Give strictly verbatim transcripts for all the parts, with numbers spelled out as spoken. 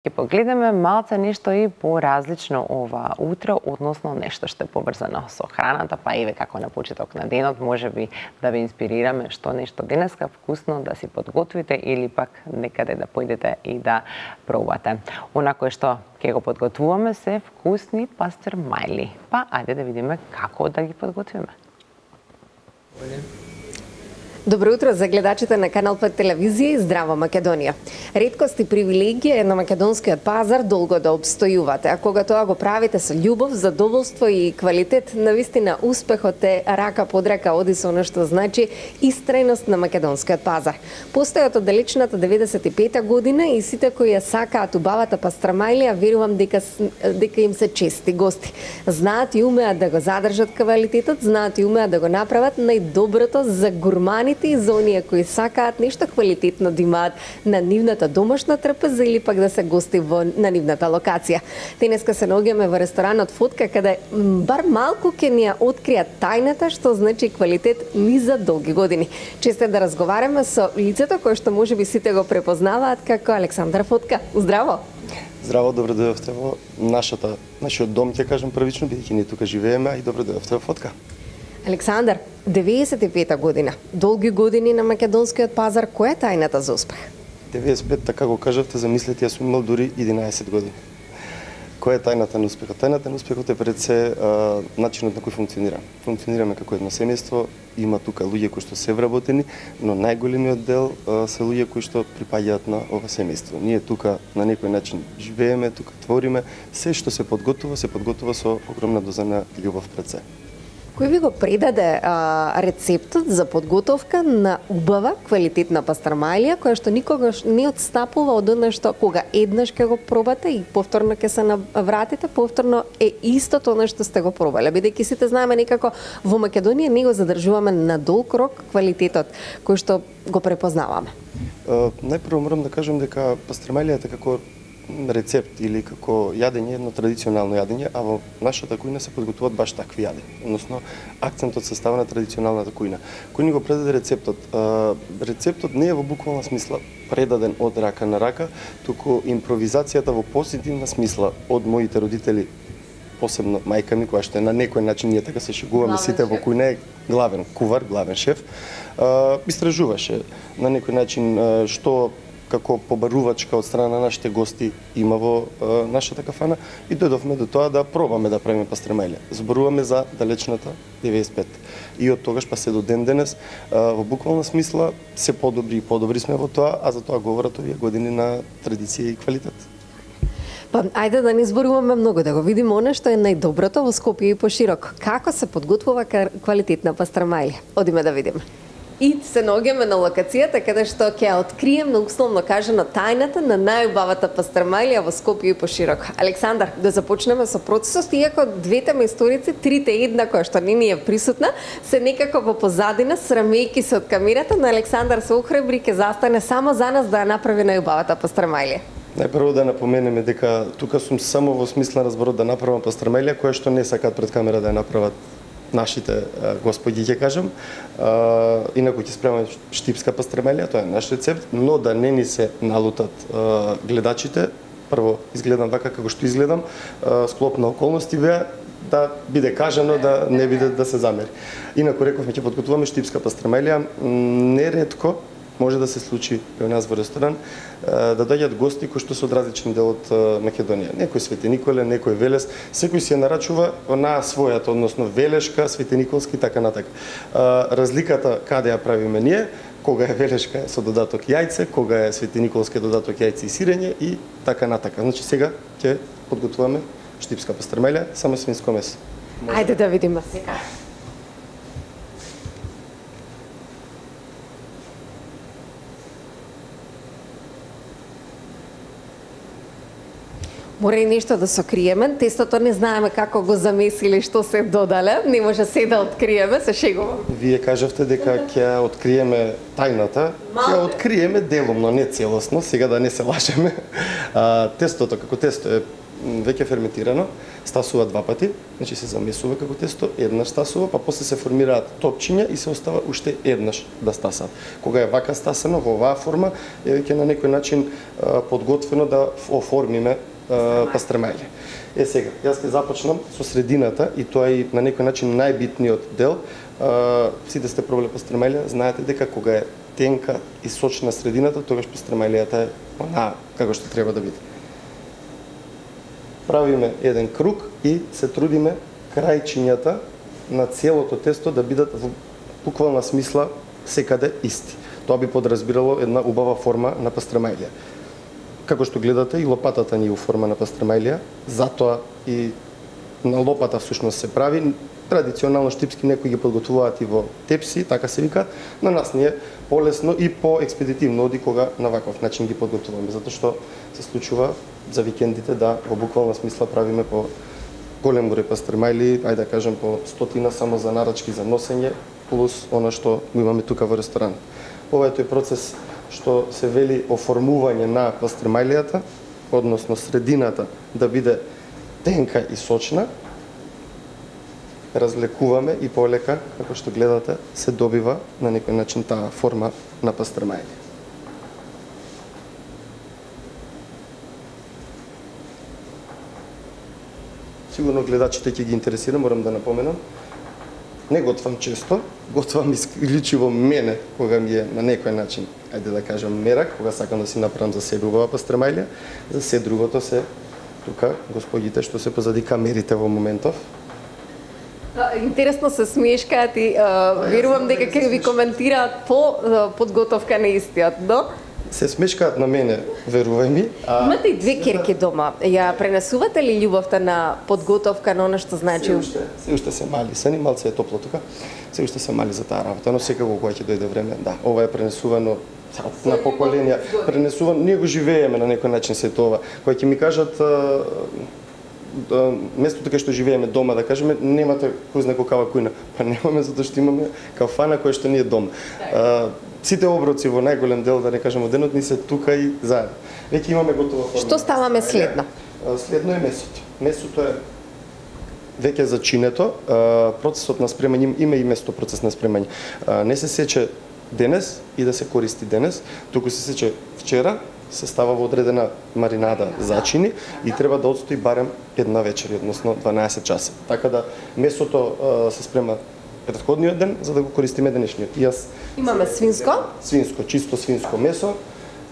Ќе погледаме малце нешто и поразлично ова утро, односно нешто што е поврзано со храната, па еве како на почеток на денот, можеби да ве инспирираме што нешто денеска вкусно да си подготвите или пак некаде да појдете и да пробате. Она кое што ќе го подготвуваме се вкусни пастрмајли. Па ајде да видиме како да ги подготвиме. Добро утро за гледачите на Канал пет телевизија и Здраво Македонија. Реткост и привилегија е на македонскиот пазар долго да обстојувате, а кога тоа го правите со љубов, задоволство и квалитет, навистина успехот е рака под рака оди со она што значи истрајност на македонскиот пазар. Постојат од далечната деветдесет и пета година и сите кои ја сакаат убавата пастрамајлија, верувам дека дека им се чести гости. Знаат и умеат да го задржат квалитетот, знаат и умеат да го направат најдоброто за гурмани и за оние кои сакаат нешто квалитетно да имаат на нивната домашна трпеза или пак да се гости во на нивната локација. Денеска се наоѓаме во ресторанот Фотка, каде бар малку ќе ни ја откријат тајната што значи квалитет ни за долги години. Често да разговараме со лицето кое што можеби сите го препознаваат како Александар Фотка. Здраво! Здраво, добро дојдовте во нашата нашиот дом, ќе кажам првично, бидејќи ние тука живееме, и добро дојдовте во Фотка. Александар, деветдесет и пета година, долги години на македонскиот пазар, која е тајната за успех? деветдесет и пет, така го кажавте, замислете, јас сум имал дури единаесет години. Која е тајната на успехот? Тајната на успехот е пред се а, начинот на кој функционира. Функционираме како едно семејство, има тука луѓе кои што се вработени, но најголемиот дел а, се луѓе кои што припаѓаат на ова семејство. Ние тука на некој начин живееме, тука твориме, се што се подготвува, се подготвува со огромна доза на љубов пред се. Кој ви го предаде а, рецептот за подготовка на убава, квалитетна пастрамајлија, која што никогаш не отстапува од она што кога еднаш ќе го пробате и повторно ќе се навратите, повторно е истото она што сте го пробале. Бидејќи сите знаеме некако во Македонија не го задржуваме на долг рок квалитетот кој што го препознаваме. Uh, најпрво морам да кажам дека пастрамајлијата како рецепт или како јадење, едно традиционално јадење, а во нашата кујна се подготвуваат баш такви јадења, односно акцентот се става на традиционалната кујна. Кој ни го предаде рецептот? Рецептот не е во буквална смисла предаден од рака на рака, туку импровизацијата во позитивна смисла од моите родители, посебно мајка ми, која што е на некој начин, ние така се шегуваме сите во кујна, е главен кувар, главен шеф, истражуваше на некој начин што како побарувачка од страна на нашите гости има во е, нашата кафана и дојдовме до тоа да пробаме да правиме пастрамајлија. Зборуваме за далечната деветдесет и пет. И од тогаш па се до ден денес, е, во буквална смисла се подобри и подобри сме во тоа, а за тоа говорат овие години на традиција и квалитет. Па, ајде да не зборуваме многу, да го видиме она што е најдоброто во Скопје и пошироко. Како се подготвува квалитетна пастрамајлија? Одиме да видиме. И се наоѓаме на локацијата каде што ќе открием на условно кажано тајната на најубавата пастрамајлија во Скопје и пошироко. Александар, да започнеме со процесот, иако двете мајсторици, трите една која што не ни е присутна, се некако во позадина, срамејки се од камерата, но Александар се охрабри, ќе застане само за нас да ја направи најубавата пастрамајлија. Најпрво да напоменеме дека тука сум само во смисла на зборот да направам пастрамајлија, која што не сакаат пред камера да ја направат нашите господи, ќе кажам. А, инаку ќе спремаме штипска пастрамајлија, тоа е наш рецепт, но да не ни се налутат а, гледачите. Прво изгледам вака како што изгледам, а, склоп на околности беа да биде кажано, да не биде да се замери. Инаку рековме ќе подготвуваме штипска пастрамајлија. Неретко може да се случи и у нас во ресторан да доаѓаат гости кои што се од различен дел од Македонија. Некој Свети Николе, некој Велес, секој си ја нарачува онаа својата, односно Велешка, Свети Николски и така натака. Разликата каде ја правиме ние, кога е Велешка со додаток јајце, кога е Свети Николски додаток јајце и сирење и така натака. Значи сега ќе подготвуваме штипска пастрамајлија, само свинско месо. Ајде да видиме сега. Мора и нешто да сокриеме, тестото не знаеме како го замесили, што се додале, не може се да откриеме, се шегувам. Вие кажавте дека ќе откриеме тајната, ќе откриеме делумно, не целосно, сега да не се лажеме. А, тестото, како тесто е веќе ферментирано, стасува два пати, значи се замесува како тесто, еднаш стасува, па после се формираат топчиња и се остава уште еднаш да стасат. Кога е вака стасано во оваа форма, е веќе на некој начин подготвено да оформиме пастремајле. Е сега, јас ќе започнам со средината и тоа е на некој начин најбитниот дел. Сите сте пробале пастремајле, знаете дека кога е тенка и сочна средината, тогаш пастремајлијата е она како што треба да биде. Правиме еден круг и се трудиме крајчињата на целото тесто да бидат во буквална смисла секаде исти. Тоа би подразбирало една убава форма на пастремајлија. Како што гледате, и лопатата ни е у форма на пастремајлија, затоа и на лопата всушност се прави. Традиционално штипски некои ги подготвуваат и во тепси, така се вика, на нас ни е полесно и поекспедитивно оди кога на ваков начин ги подготвуваме, затоа што се случува за викендите да во буквална смисла правиме по голем број пастремајли, ајде да кажем по стотина само за нарачки за носење, плюс она што го имаме тука во ресторан. Ова е тој процес што се вели оформување на пастремајлијата, односно средината да биде тенка и сочна, разлекуваме и полека, како што гледате, се добива на некој начин таа форма на пастремајлија. Сигурно гледачите ќе ги интересира, морам да напоменам. Не готвам често, готвам исклучиво мене, кога ми е на некој начин, ајде да кажам, мерак, кога сакам да си направам за себе убава пастремајлија, за се другото се тука господите што се позади камерите во моментов. Интересно се смешкаат и верувам дека ќе ви коментираат по подготовка на истиот, но? Се смешкаат на мене, верувај ми. А... Имате и две керки дома. Ја пренесувате ли љубовта на подготовка на она што значи? Се уште, се уште се мали, се ни малце е топло тука. Се уште се мали за таа работа, но секако кога ќе дојде време, да, ова е пренесувано на поколенија, пренесувано, ние го живееме на некој начин се тоа. Кога ќе ми кажат местото кај што живееме дома, да кажеме, немате кој знае каква кујна. Па немаме затоа што имаме кафана која што ни е дом. А, сите оброци во најголем дел, да не кажеме, денот ни се тука и заедно. Веќе имаме готова форма. Што ставаме следно? Следно е месото. Месото е веќе зачинето. Процесот на спремање има и место процес на спремање. Не се сече денес и да се користи денес, туку се сече вчера, се става во одредена маринада зачини и треба да отстои барем една вечер, односно дванаесет часа. Така да месото а, се спрема претходниот ден за да го користиме денешниот. И јас имаме свинско? Свинско, чисто свинско месо.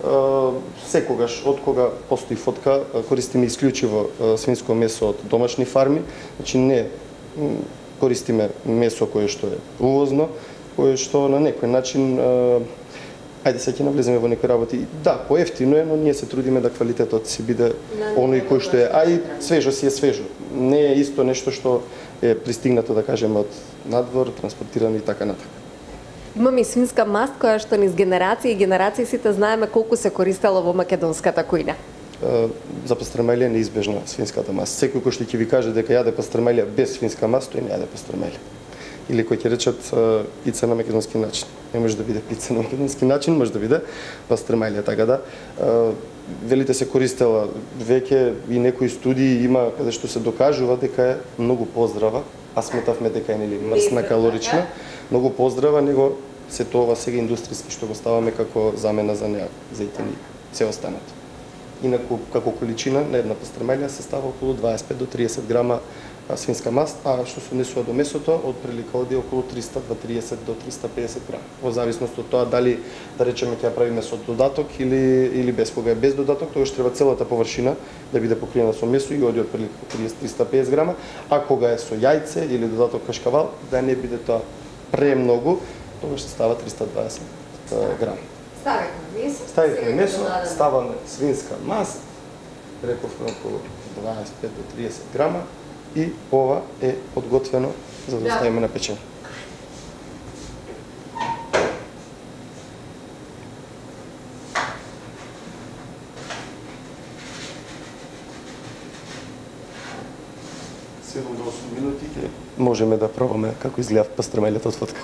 А, секогаш од кога постои фотка користиме исклучиво свинско месо од домашни фарми, значи не користиме месо кое што е увозно, кое што на некој начин а, ајде сега ќе навлеземе во некои работи. Да, поевтино е, но ние се трудиме да квалитетот си биде оној кој што е, а и свежо си е свежо. Не е исто нешто што е пристигнато, да кажеме, од надвор, транспортирано и така натака. Имаме и свинска маст која што низ генерации и генерации сите знаеме колку се користела во македонската кујна. За пастремајлија неизбежна свинската маст. Секој кој што ќе ви каже дека јаде пастремајлија без свинска маст, тој не јаде пастремајлија. Или кој ќе речат пица на македонски начин. Не може да биде пица на македонски начин, може да биде пастремајлија, така да велите се користела веќе и некои студии има каде што се докажува дека е многу поздрава, а сметавме дека е нели мрсна, калорична, многу поздрава него се тоа сега индустријски што го ставаме како замена за неа, зејтини, се останато. Инаку како количина на една пастремајлија се става околу дваесет и пет до триесет грама свинска маст, а што се однесува до месото, од прилика оди околу триста до триесет до триста педесет грама. Во зависност од тоа дали да речеме ќе ја правиме со додаток или или без. Кога е без додаток, тогаш треба целата површина да биде покриена со месо и оди од прилика триесет до триста педесет грама, а кога е со јајце или додаток кашкавал, да не биде тоа премногу, тогаш се става триста и дваесет грама. Ставихме месо, ставихме месо, ставаме свинска маст, рековме околу дваесет и пет до триесет грама и ова е подготвено за да ставиме на печење. седум до осум минути можеме да пробаме како изгледа пастремајлето од фотка.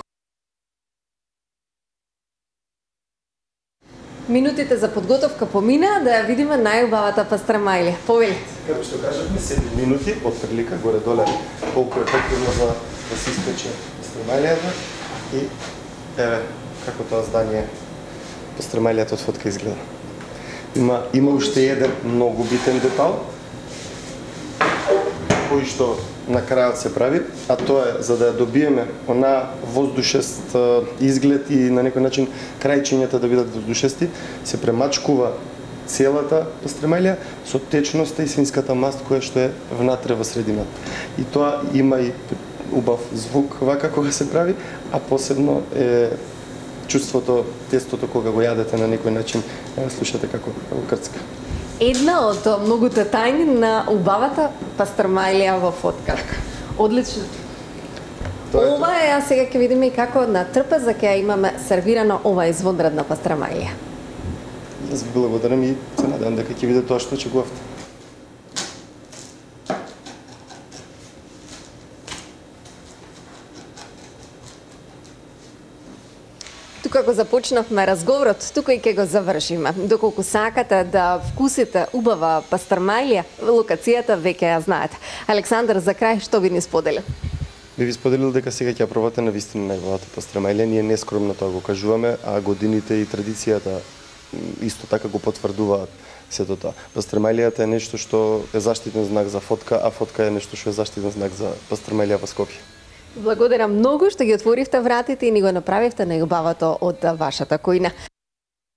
Минутите за подготовка помина, да ја видиме најубавата пастрамајлија. Повели. Како што кажавме, седум минути од прилика горе-доле колку е потребно за да се испече пастрамајлијата и еве како тоа здание пастрамајлијата од фотка изгледа. Има има уште еден многу битен детал кој што на крајот се прави, а тоа е за да ја добиеме она воздушест изглед и на некој начин крајчињата да бидат воздушести, се премачкува целата пастрамајлија со течноста и свинската маст која што е внатре во средината. И тоа има и убав звук вака кога се прави, а посебно е чувството, тестото кога го јадете на некој начин, слушате како како крцка. Една од многуте тајни на убавата пастрамајлија во фотка. Одлично. Ова е, а сега ќе видиме и како на трпеза ќе ја имаме сервирано ова извонредна пастрамајлија. Јас ви благодарам и се надевам дека ќе видите тоа што очекувавте. Тука го започнавме разговорот, тука и ќе го завршиме. Доколку сакате да вкусите убава пастрамајлија, локацијата веќе ја знаете. Александар, за крај што би ни сподели? Би ви споделил дека сега ќе ја пробате на вистина најубавата пастрамајлија. Ние нескромно тоа го кажуваме, а годините и традицијата исто така го потврдуваат сето тоа. Пастрамајлијата е нешто што е заштитен знак за фотка, а фотка е нешто што е заштитен знак за пастрамајлија во Скопје. Благодарам многу што ги отворивте вратите и ни го направивте најубавото од вашата кујна.